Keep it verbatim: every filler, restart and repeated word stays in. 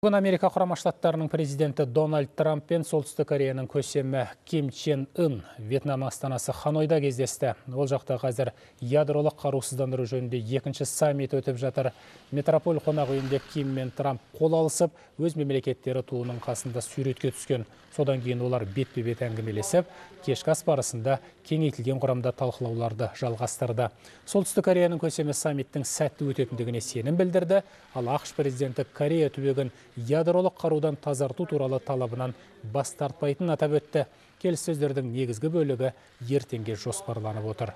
Бүгін Америка Құрама Штаттарының президенті Дональд Трамп пен Солтүстік Кореяның көсемі Ким Чен Ын Вьетнам астанасы Ханойда кездесті. Ол жақта қазір ядролық қарусыздандыру жөнінде екінші саммит өтіп жатыр. Метрополь қонақ үйінде Ким мен Трамп қол алысып, өз мемлекеттері туының қасында суретке түскен. Содан кейін олар бетпе-бет әңгімелесіп, кешкі ас барысында кеңейтілген құрамда талқылауларды жалғастырды. Солтүстік Кореяның көсемі саммиттің сәтті өтетіндігіне сенім білдірді, ал ақш президенті Корея түбегін ядролық қарудан тазарту туралы талабынан бас тартпайтынын атап өтті. Келіссөздердің негізгі бөлігі ертеңге жоспарланып отыр.